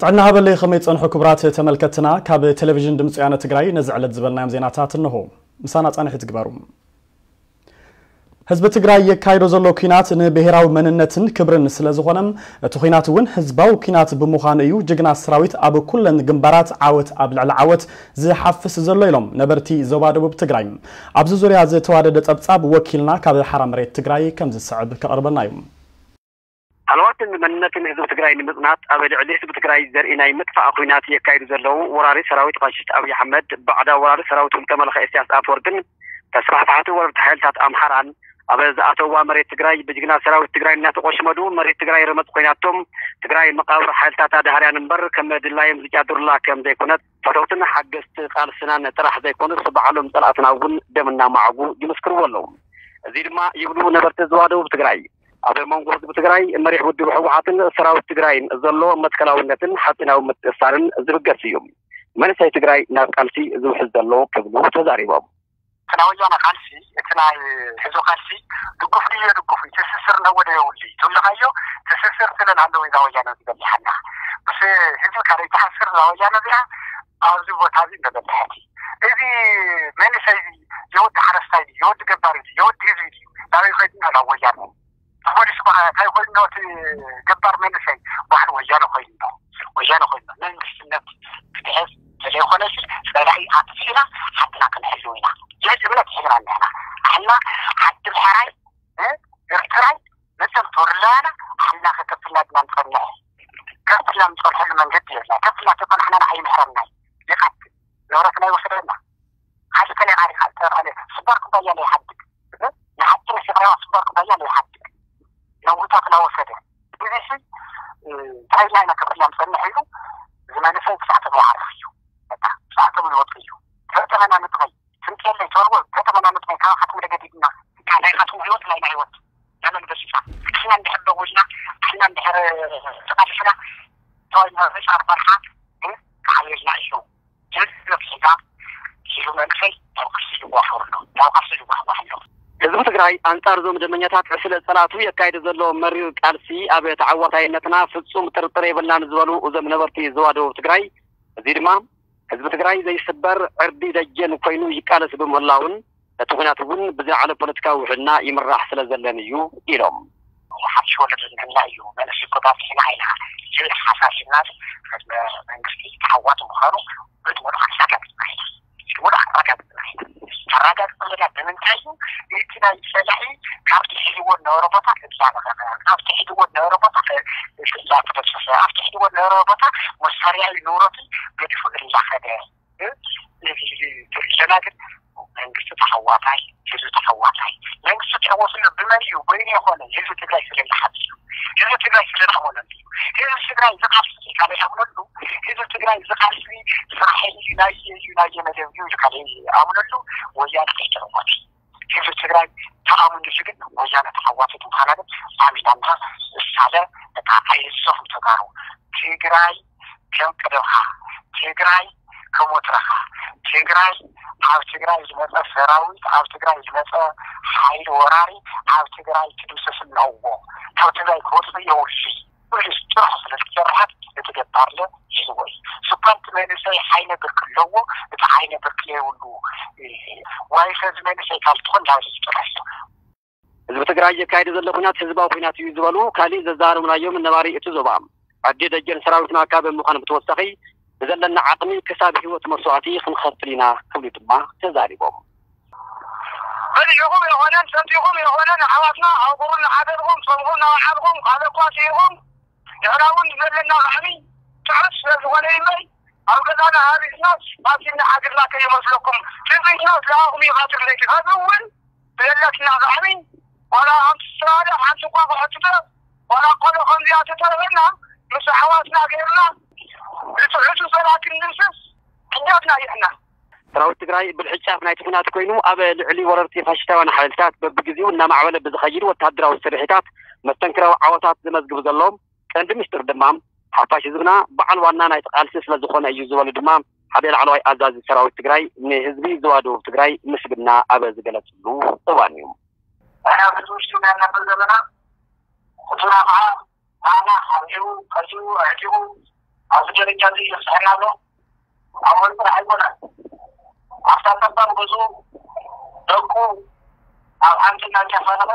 ጥዕና ሃበለይ፣ ከመይ ጸንሑ ክቡራት ተመልከትና? ካብ ቴሌቪዥን ድምፂ ወያነ ትግራይ ነዚ ዕለት ዝበልናዮም ዜናታት እንሆ። ምሳና ጻንሒት ግበሩ። ህዝቢ ትግራይ የካይዶ ዘሎ ኲናት ንብሔራዊ መንነትን ክብርን ስለ ዝኾነ፣ እቲ ኲናት እውን ህዝባዊ ኲናት ብምዃኑ እዩ ጅግና ሰራዊት ኣብ ኩለን ግንባራት ዓወት ኣብ ልዕሊ ዓወት ዝሓፍስ ዘሎ ኢሎም ነበርቲ ዞባ ደቡብ ትግራይ። ኣብዚ ዙርያ ዝተዋደደ ጸብጻብ ወኪልና ካብ ሓራ መሬት ትግራይ ከም ዝስዕብ ከቕርበልና እዩ። ሃለዋትን መንነትን ህዝቢ ትግራይ ንምጽናት ኣብ ልዕሊ ህዝቢ ትግራይ ዘርኢ ናይ ምጥፋእ ኲናት የካይዱ ዘለዉ ወራሪ ሰራዊት ፋሽስት ኣብይ ኣሕመድ፣ ባዕዳዊ ወራሪ ሰራዊት ውልቀ መላኺ ኢሳያስ ኣፈወርቅን ተስፋሕፋሕቲ ወረርቲ ሓይልታት ኣምሓራን ኣብ ዝኣተውዋ መሬት ትግራይ ብጅግና ሰራዊት ትግራይ እናተቆሽመዱ መሬት ትግራይ ረመፅ ኮይናቶም ትግራይ መቃብር ሓይልታት ኣድሃርያን እምበር ከም ድላዮም ዝጫድሩላ ከም ዘይኮነት ፈተውትን ሓገዝቲ ቃልስናን ጥራሕ ዘይኮኑስ ባዕሎም ፀላእትና እውን ደም እናማዕጉ ይምስክርዎ ኣለዉ። እዚ ድማ ይብሉ ነበርቲ ዞባ ደቡብ ትግራይ ኣብ መንጎ ህዝቢ ትግራይ መሪሕ ውድብ ህወሓትን ሰራዊት ትግራይን ዘሎ መትከላውነትን ሓፂናዊ ምትእስሳርን ዝብገስ እዩ። መንእሰይ ትግራይ ናብ ቃልሲ ዝውሕዝ ዘሎ ክብሉ ተዛሪቦም። እቲ ናይ ወያነ ቃልሲ፣ እቲ ናይ ህዝቢ ቃልሲ ድጉፍ ድዩ የድጉፍ እዩ፣ ትስስር እነዎ ዶ የብሉ እዩ ትብልካዮ፣ ትስስር ስለ ዝሃለወ እዛ ወያነ እዚኣ በሊሓና። ምስ ህዝቢ ካልእ ትሓስር እዛ ወያነ እዚኣ ኣብዚ ቦታ እዚ እንተበልሐት። እዚ መንእሰይ እዚ የወዲ ሓረስታይ ድዩ፣ የወዲ ገባሪ ድዩ፣ የወዲ ህዝቢ ድዩ፣ ናበይ ኸይዱ ኣሎ ወያነ? ፖሊስ በ-፣ እንታይ ኮይኑ እቲ ገባር መንእሰይ ባዕሉ ወያነ ኮይኑ ኣሎ። ወያነ ኮይኑ ኣሎ። መንግስትነት ክትሕዝ ስለይኮነስ ጸላኢ ኣጥፊእና ዓድና ክንሕልው ኢና። ይህ እምነት ሒዝና ኣለና። ኣሕና ዓዲ ምሕራይ፣ እ፣ ኤርትራይ መቸም ተወርላና ኣሕና ከከፍልና ድና ንጸንሕ። ከፍልና ንጸንሐሉ መንገዲ የብልና። ከፍልና ተጸናሕና ንዓይ ምሕረናይ። ይቐትል። ንብረትና ይወስደና። ሓቂ ከለይ ዓሪኻ እተረኸለ ስባር ኩባያ ለይሓድግ። ንሓቂ ንስቕረባ ስባር ኩባያ ለይሓድግ። ነዊታ ክላወሰደ። እዚ ሲ፣ እ፣ እንታይ ኢልና ኢና ከፍልና ንጸንሕ ኢሉ ዝመለሰ ክሳዕ ተመዋዕረኽ እዩ። በቃ፣ ክሳዕ ተመዋዕረኽ እዩ። ተተመና ንጥራይ። ስንት የለይ፣ ተወርወር፣ ተተመና ንጥራይ። ካባኻትኩም ደገዲድና። ካላይኻትኩም ህይወት፣ ናይና ህይወት። ለመን በሲሳ። ንሕና እንድሕር ደዊልና፣ ንሕና እንድሕር ተቓሊስና፣ ተዋይና ርጫ ኣርባርሓ፣ እ፣ ክሓየልና እዩ። ጅግና ሒዛ ሒዙ መንእሰይ ናብ ቃልሲ ይዋፈሩ ኣለዉ። ናብ ቃልሲ ይዋፈሩ ኣለዉ። ህዝቢ ትግራይ ኣንጻር እዞም ደመኛታት ዕስለ ጸላእቱ የካይድ ዘሎ መሪር ቃልሲ ኣብ ተዓዋታይነትና ፍጹም ጥርጥር የብልናን ዝበሉ እዞም ነበርቲ ዞባ ደቡብ ትግራይ፣ እዚ ድማ ህዝቢ ትግራይ ዘይስበር ዕርዲ ደጀን ኮይኑ ይቃለስ ብምህላውን እቲ ኲናት እውን ብዝለዓለ ፖለቲካዊ ውሕልና ይምራሕ ስለ ዘለን እዩ ኢሎም። ሓድሽ ወለዶ ዝምህና እዩ። መንእሰይ እኮ ባጽሕና ኢና። ዝብል ሓሳብ ሒዝና ቅድመ መንግስቲ ተዓዋቲ ምዃኑ ብድሙር ኣረጋጊጽና ኢና። ብድሙር ኣረጋጊጽና ኢና። ተረጋግጽ ዘለና ብምንታይ እዩ? እቲ ናይ ጸላኢ ካብቲ ሒዝዎ ዝነበረ ቦታ እዛ መኸኸ፣ ካብቲ ሒዝዎ ዝነበረ ቦታ እዛ ተበሰሰ፣ ኣብቲ ሒዝዎ ዝነበረ ቦታ መሳርያ እዩ ንብረቱ ገዲፉ እንዳኸደ። እዚ ትርኢ ዘለና ግን መንግስቲ ተሓዋታይ፣ ህዝቢ ተሓዋታይ። መንግስቲ ትዕወትሉ ብመን እዩ? በይኑ የኾነ፣ ህዝቢ ትግራይ ስለ ዝሓዝ እዩ። ህዝቢ ትግራይ ስለ ዝኣመነሉ እዩ። ህዝቢ ትግራይ ዝቃልሲ ካልእ ይኣምነሉ። ህዝቢ ትግራይ ዝቃልሲ ስራሕ እዩ፣ ናይ እዩ፣ ናይ መደብ እዩ ኢሉ ካልእ ይኣምነሉ። ወያነ ከይተዕወት። ህዝቢ ትግራይ ተኣምንሉ ግን ወያነ ተሓዋቲት ምዃና ግን ኣሚናና እሳለ በቃ ኣይንሰኹም ተጋሩ። ትግራይ ከም ቀደምኻ፣ ትግራይ ከም ወትረኻ፣ ትግራይ ኣብ ትግራይ ዝመፀ ሰራዊት፣ ኣብ ትግራይ ዝመፀ ሓይሊ ወራሪ ኣብ ትግራይ ትድምሰስ ኣለዎ። ካብ ትግራይ ክወፅእ የብሉይ። ፖሊስ ጥራሕ ስለ ዝሰርሐት እቲ ገባርለ ይህልዎ እዩ። ስኳንቲ መንእሰይ ዓይነ ብርኪ ኣለዎ፣ እቲ ዓይነ ብርኪ ዘይብሉ ዋይፈ እዚ መንእሰይ ካብ ትኾን ናብ ዝጥራሕ እዩ። ህዝቢ ትግራይ የካየደ ዘሎ ኩናት ህዝባዊ ኩናት እዩ ዝበሉ ካሊእ ዘዛረብናዮም ነባሪ እቲ ዞባ፣ ኣዲ ደጀን ሰራዊትና ካብ ምዃን ብተወሳኺ ብዘለና ዓቕሚ ክሳብ ህይወት መስዋዕቲ ክንኸፍል ኢና ክብሉ ድማ ተዛሪቦም። በሊዕኹም የኾነን ሰቲኹም የኾነን ኣሕዋትና ኣብ ቁሩብ ንሓደርኩም ጾምኹም ናባዓልኩም ካልእ እኳ ስኢኹም ንሕና እውን ዘለና ላዕሊ ትሑት ስለ ዝኾነ እምበር ኣብ ገዛና ሃሪስናስ ማሲና ሓዲርና ከይመስለኩም ትጽቢትና ስለኣኹም እዩ ቐትሪ ለይቲ ኸዚ እውን ብዘለትና ላዕሊ ዋላ ሓንቲ ስራደ ሓንቲ እኳ ክሕትተ ዋላ ቆሎ ከምዚኣ ተተረፈና ምስ ኣሕዋትና ገይርና ንትሑቱ ሰላ ክንድምስስ ሕጃትና ይሕና። ሰራዊት ትግራይ ብልሕጫፍ ናይቲ ኩናት ኮይኑ ኣብ ልዕሊ ወረርቲ ፋሽስታውያን ሓይልታት በብግዜኡ እናማዕበለ ብዝኸይድ ወታደራዊ ስርሒታት መስተንክራዊ ዓወታት ዘመዝግብ ዘሎ ቀንዲ ምስጢር ድማ ሓፋሽ ህዝብና በዓል ዋና ናይቲ ቃልሲ ስለ ዝኾነ እዩ ዝበሉ ድማ ሓደ ላዕለዋይ ኣዛዚ ሰራዊት ትግራይ ንህዝቢ ዞባ ደቡብ ትግራይ ምስግና ኣብ ዝገለፅሉ እዋን እዩ። ሕና ብዝውሽጡ ናይ እናፈል ዘለና ሕቱና ከዓ ንዓና ሓቢሩ ቀሲቡ ኣዕጢቑ ኣብዚ ደረጃ እዚ ይበፅሐና ኣሎ። ኣብ ወርቂ ኣይኮነን። ኣብታ ጠባብ ገዝኡ ደቁ ኣብ ሓንቲ እናጨፈለቐ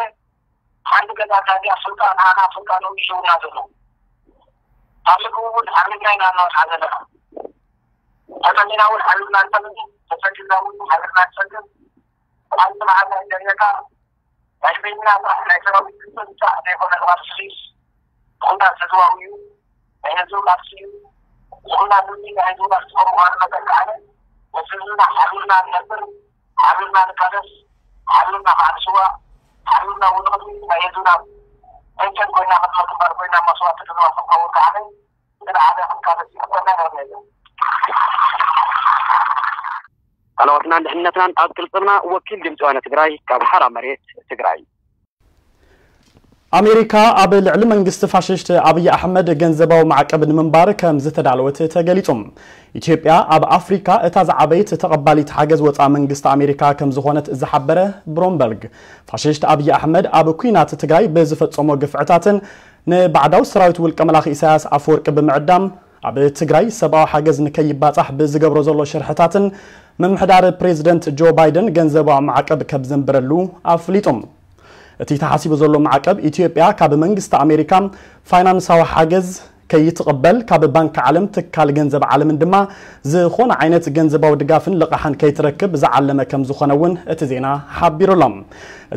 ሓንቲ ገዛ ካሊኣ ፍልቃ ንዓና ፍልቃ ነው ይሽውና ዘሎ። ካብ ምግቢ እውን ሓሪምና ኢና እናወፅዓ ዘለና። ተጠሚና እውን ሓሪምና ንጠምን፣ ተሰዲድና እውን ሓሪምና ንሰድር። ብሓንቲ መዓልቲ ኣይደርየካ ናይ በይንና ስራሕ ናይ ሰራዊት ክፍል ብቻ ዘይኮነ ቅባል ስሪስ ብኹናት ተዘዋውዩ ናይ ህዝቡ ቃልሲ እዩ። ብኹናት እዚ ናይ ህዝቡ ቃልሲ ከምኡ ምዃኑ መጠን ከዓነ ምስ ህዝብና ሓቢርና ንነብር፣ ሓቢርና ንቃለስ፣ ሓቢርና ከዓ ንስዋእ፣ ሓቢርና እውን ንቕድሚት ናይ ህዝብና ፈንቅል ኮይና ቅድመ ግንባር ኮይና መስዋእቲ ክንዋስእ ከውን ከዓነ ንሓደ ክንቃለስ ይግበና ነርና እዩ። ቃልስናን ድሕነትናን ኣብ ቅልጽምና። ወኪል ድምፂ ወያነ ትግራይ ካብ ሓራ መሬት ትግራይ። ኣሜሪካ ኣብ ልዕሊ መንግስቲ ፋሽስት ኣብይ ኣሕመድ ገንዘባዊ ማዕቀብ ንምንባር ከም ዝተዳለወት ተገሊጹ። ኢትዮጵያ ኣብ ኣፍሪካ እታ ዝዓበየት ተቐባሊት ሓገዝ ወፃኢ መንግስቲ ኣሜሪካ ከም ዝኾነት ዝሓበረ ብሎምበርግ፣ ፋሽስት ኣብይ ኣሕመድ ኣብ ኲናት ትግራይ ብዝፈጸሞ ግፍዕታትን ንባዕዳዊ ሰራዊት ውልቀ መላኺ ኢሳያስ ኣፈወርቂ ብምዕዳም ኣብ ትግራይ ሰብኣዊ ሓገዝ ንከይባጻሕ ብዝገብሮ ዘሎ ሽርሕታትን ምምሕዳር ፕሬዚደንት ጆ ባይደን ገንዘባዊ ማዕቀብ ከም ዘንብረሉ ኣፍሊጡ። እቲ ተሓሲቡ ዘሎ ማዕቀብ ኢትዮጵያ ካብ መንግስቲ ኣሜሪካ ፋይናንሳዊ ሓገዝ ከይትቕበል፣ ካብ ባንኪ ዓለም፣ ትካል ገንዘብ ዓለምን ድማ ዝኾነ ዓይነት ገንዘባዊ ድጋፍን ልቓሕን ከይትረክብ ዝዓለመ ከም ዝኾነ እውን እቲ ዜና ሓቢሩ ኣሎ።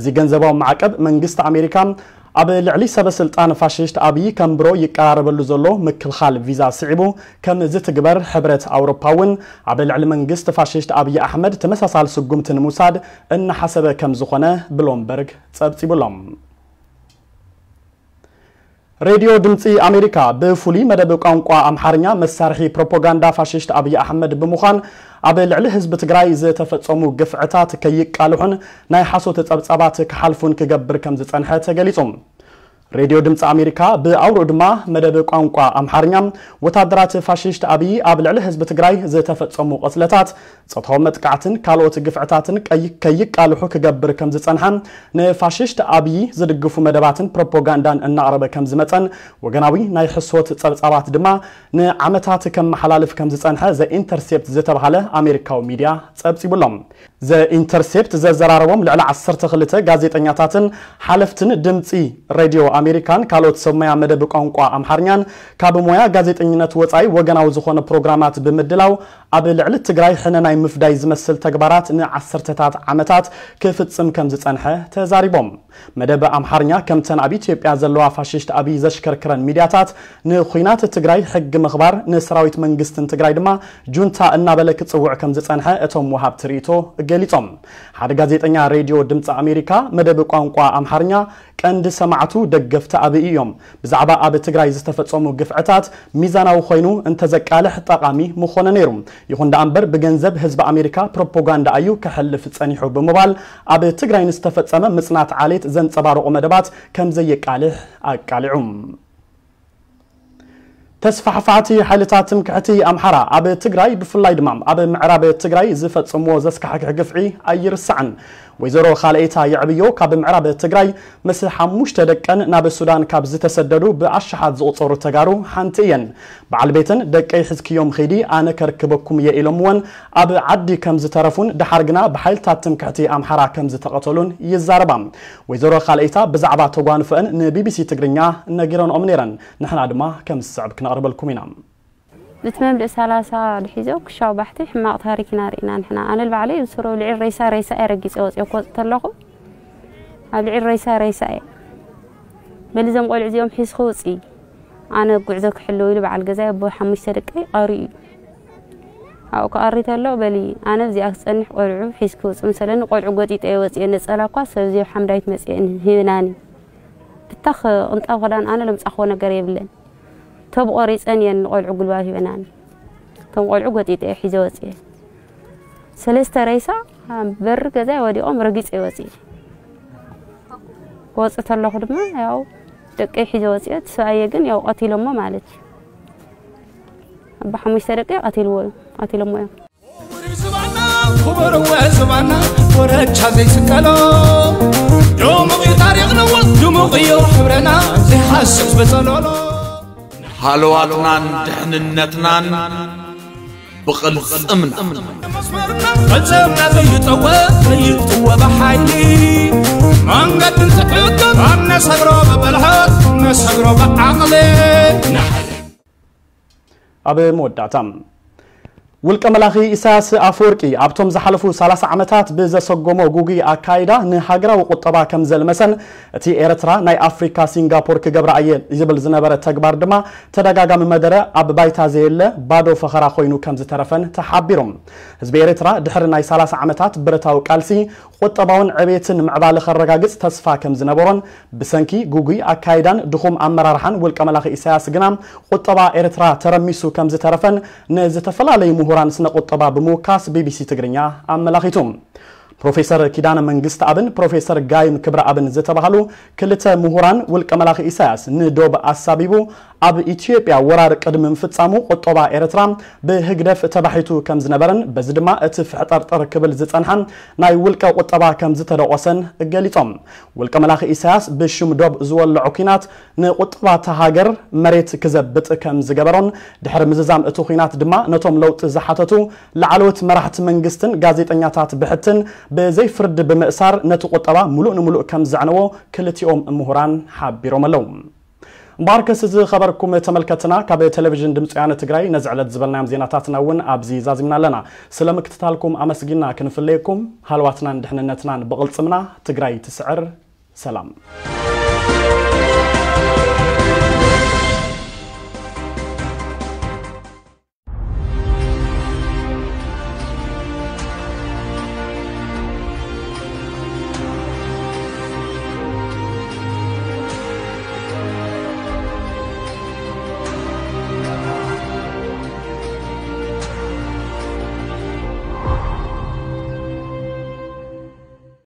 እዚ ገንዘባዊ ማዕቀብ መንግስቲ ኣሜሪካ ኣብ ልዕሊ ሰበ ስልጣን ፋሽስት ኣብይ ከንብሮ ይቀራረበሉ ዘሎ ምክልኻል ቪዛ ስዒቡ ከም ዝትግበር፣ ሕብረት ኣውሮፓ እውን ኣብ ልዕሊ መንግስቲ ፋሽስት ኣብይ ኣሕመድ ተመሳሳሊ ስጉምቲ ንምውሳድ እናሓሰበ ከም ዝኾነ ብሎምበርግ ጸብጺቡ ኣሎ። ሬድዮ ድምፂ ኣሜሪካ ብፍሉይ መደብ ቋንቋ ኣምሓርኛ መሳርሒ ፕሮፓጋንዳ ፋሽስት ኣብይ ኣሕመድ ብምዃን ኣብ ልዕሊ ህዝቢ ትግራይ ዝተፈጸሙ ግፍዕታት ከይቃልሑን ናይ ሓሶት ጸብጻባት ክሓልፉን ክገብር ከም ዝጸንሐ ተገሊጹ። ሬድዮ ድምፂ ኣሜሪካ ብኣውርኡ ድማ መደብ ቋንቋ ኣምሓርኛ ወታደራት ፋሽስት ኣብይ ኣብ ልዕሊ ህዝቢ ትግራይ ዝተፈጸሙ ቅትለታት፣ ጾታዊ መጥቃዕትን ካልኦት ግፍዕታትን ቀይ-፣ ከይቃልሑ ክገብር ከም ዝጸንሐ፣ ንፋሽስት ኣብይ ዝድግፉ መደባትን ፕሮፓጋንዳን እናቕረበ ከም ዝመጸን፣ ወገናዊ ናይ ሕሶት ጸብጻባት ድማ ንዓመታት ከመሓላልፍ ከም ዝጸንሐ ዘ ኢንተርሴፕት ዝተባህለ ኣሜሪካዊ ሚድያ ጸብጺቡ ኣሎ። ዘ ኢንተርሴፕት ዘዘራረቦም ልዕሊ ዓሰርተ ክልተ ጋዜጠኛታትን ሓለፍትን ድምፂ ሬድዮ ኣሜሪካን ካልኦት ሰብ ሞያ መደብ ቋንቋ ኣምሓርኛን ካብ ሞያ ጋዜጠኝነት ወፃኢ ወገናዊ ዝኾነ ፕሮግራማት ብምድላው ኣብ ልዕሊ ትግራይ ሕነ ናይ ምፍዳይ ዝመስል ተግባራት ንዓሰርተታት ዓመታት ክፍፅም ከም ዝፀንሐ ተዛሪቦም። መደብ ኣምሓርኛ ከምተን ኣብ ኢትዮጵያ ዘለዋ ፋሽስት ኣብይ ዘሽከርክረን ሚድያታት ንኹናት ትግራይ ሕጊ ምኽባር፣ ንሰራዊት መንግስትን ትግራይ ድማ ጁንታ እናበለ ክጽውዕ ከም ዝጸንሐ እቶም ወሃብቲ ርእይቶ ገሊጾም። ሓደ ጋዜጠኛ ሬድዮ ድምፂ ኣሜሪካ መደብ ቋንቋ ኣምሓርኛ ቀንዲ ሰማዕቱ ደገፍቲ ኣብይ እዮም። ብዛዕባ ኣብ ትግራይ ዝተፈጸሙ ግፍዕታት ሚዛናዊ ኮይኑ እንተዘቃልሕ ጠቓሚ ምኾነ ነይሩ። ይኹን ደኣ እምበር ብገንዘብ ህዝቢ ኣሜሪካ ፕሮፓጋንዳ እዩ ከሕልፍ ጸኒሑ ብምባል ኣብ ትግራይ ንዝተፈጸመ ምጽናት ዓሌት ዘንጸባርቑ መደባት ከም ዘየቃልሕ ኣቃሊዑ። ተስፋሕፋሕቲ ሓይልታት ትምክሕቲ ኣምሓራ ኣብ ትግራይ ብፍላይ ድማ ኣብ ምዕራብ ትግራይ ዝፈጽምዎ ዘስካሕክሕ ግፍዒ ኣይርሳዕን። ወይዘሮ ካልኤታ የዕብዮ ካብ ምዕራብ ትግራይ ምስ ሓሙሽተ ደቀን ናብ ሱዳን ካብ ዝተሰደዱ ብኣሽሓት ዝቑጸሩ ተጋሩ ሓንቲ እየን። በዓል ቤተን ደቀይ ሒዝክዮም ኺዲ ኣነ ከርክበኩም እየ ኢሎምወን ኣብ ዓዲ ከም ዝተረፉን ደሓር ግና ብሓይልታት ትምክሕቲ ኣምሓራ ከም ዝተቐተሉን ይዛረባ። ወይዘሮ ካልኤታ ብዛዕባ ተጓንፈአን ንቢቢሲ ትግርኛ ነጊረንኦም ነይረን። ንሕና ድማ ከም ዝስዕብ ክነቕርበልኩም ኢና። እቲ መምልእ ሰላሳ ድሒዞ ክሻው ባሕቲ ሕማቕ ታሪክ ኢና ርኢና ንሕና። ኣነ ንባዕለይ ብስሩ ኣብ ልዕሊ ሬሳ ሬሳ እየ ረጊጸ ወጽየ ክወጽእ ተለኹ። ኣብ ልዕሊ ሬሳ ሬሳ እየ። በሊ እዞም ቆልዑ እዚኦም ሒዝኺ ውጺ። ኣነ ጉዕዞ ክሕልው ኢሉ በዓል ገዛይ ኣቦ ሓሙሽተ ደቀይ ቀርዩ እዩ። ኣብኡ ክቐሪ ተሎ በሊ ኣነ ኣብዚኣ ክጸንሕ ቆልዑ ሒዝኪ ውጺ ምሰለኒ ቆልዑ ጎጢጠ እየ ወጽየ። ነጸላ እኳ ሰብ እዚኦም ሓምዳይት መጽየ ሂብናኒ። ብታኽ ቅንጣብ ክዳን ኣነ ለምጻኽዎ ነገር የብለን። ቶብ ቆሪጸን እየን ንቆልዑ ጉልባብ ሂበናኒ። እቶም ቆልዑ ጎጢጠ እየ ሒዘ ወጽየ። ሰለስተ ሬሳ ኣብ በሪ ገዛይ ወዲቖም ረጊጸ እየ ወጽየ። ክወጽእ ተለኹ ድማ ያው ደቀይ ሒዘ ወጽየ። እቲ ሰብኣየ ግን ያው ቀቲሎሞ ማለት እዩ። ኣባ ሓሙሽተ ደቀይ ቀቲልዎ እዩ፣ ቀቲሎሞ እዮም። ዝባና ክቡር ዝባና ወረቻ ዘይስቀሎ ድሙቕ እዩ ታሪኽና ድሙቕ እዩ ሕብረና ዘይሓስስ በጸሎሎ። ሃለዋትናን ድሕንነትናን ብቕልጽምና። ፈጸምና ዘይጠወ ዘይጥወ ብሓይሊ መንገድን ዝሕግም ኣብ ነሰግሮ ብብልሓት ነሰግሮ ብዓቕሊ ኣብ መወዳእታ ውልቀ መላኺ ኢሳያስ ኣፈወርቂ ኣብቶም ዝሓለፉ ሰላሳ ዓመታት ብዘሰጎሞ ጉጉይ ኣካይዳ ንሃገራዊ ቁጠባ ከም ዘልመሰን እቲ ኤርትራ ናይ ኣፍሪካ ሲንጋፖር ክገብራ እየ ዝብል ዝነበረ ተግባር ድማ ተደጋጋሚ መደረ ኣብ ባይታ ዘየለ ባዶ ፈኸራ ኮይኑ ከም ዝተረፈን ተሓቢሮም። ህዝቢ ኤርትራ ድሕሪ ናይ ሰላሳ ዓመታት ብረታዊ ቃልሲ ቁጠባውን ዕቤትን ምዕባለ ከረጋግጽ ተስፋ ከም ዝነበሮን ብሰንኪ ጉጉይ ኣካይዳን ድኹም ኣመራርሓን ውልቀ መላኺ ኢሳያስ ግና ቁጠባ ኤርትራ ተረሚሱ ከም ዝተረፈን ንዝተፈላለዩ ምሁራን ስነ ቁጠባ ብምውካስ ቢቢሲ ትግርኛ ኣመላኺቱ። ፕሮፌሰር ኪዳነ መንግስት ኣብን ፕሮፌሰር ጋይም ክብረ ኣብን ዝተባህሉ ክልተ ምሁራን ውልቀ መላኺ ኢሳያስ ንዶብ ኣሳቢቡ ኣብ ኢትዮጵያ ወራር ቅድሚ ምፍጻሙ ቁጠባ ኤርትራ ብህግደፍ ተባሒቱ ከም ዝነበረን በዚ ድማ እቲ ፍሕጠርጠር ክብል ዝጸንሐ ናይ ውልቀ ቁጠባ ከም ዝተደቆሰን ገሊጾም። ውልቀ መላኺ ኢሳያስ ብሽም ዶብ ዝወለዖ ኲናት ንቁጠባ እታ ሃገር መሬት ክዘብጥ ከም ዝገበሮን ድሕሪ ምዝዛም እቲ ኲናት ድማ ነቶም ለውጢ ዝሓተቱ ላዕለዎት መራሕቲ መንግስትን ጋዜጠኛታት ብሕትን ብዘይ ፍርዲ ብምእሳር ነቲ ቁጠባ ሙሉእ ንሙሉእ ከም ዘዕነዎ ክልቲኦም ምሁራን ሓቢሮም ኣለዉ። እምበኣርከስ ዝኸበርኩም ተመልከትና ካብ ቴሌቪዥን ድምፂ ወያነ ትግራይ ነዚ ዕለት ዝበልናዮም ዜናታትና እውን ኣብዚ ዛዚምና ኣለና። ስለ ምክትታልኩም ኣመስጊና ክንፍለየኩም ሃልዋትናን ድሕንነትናን ብቕልፅምና ትግራይ ትስዕር። ሰላም።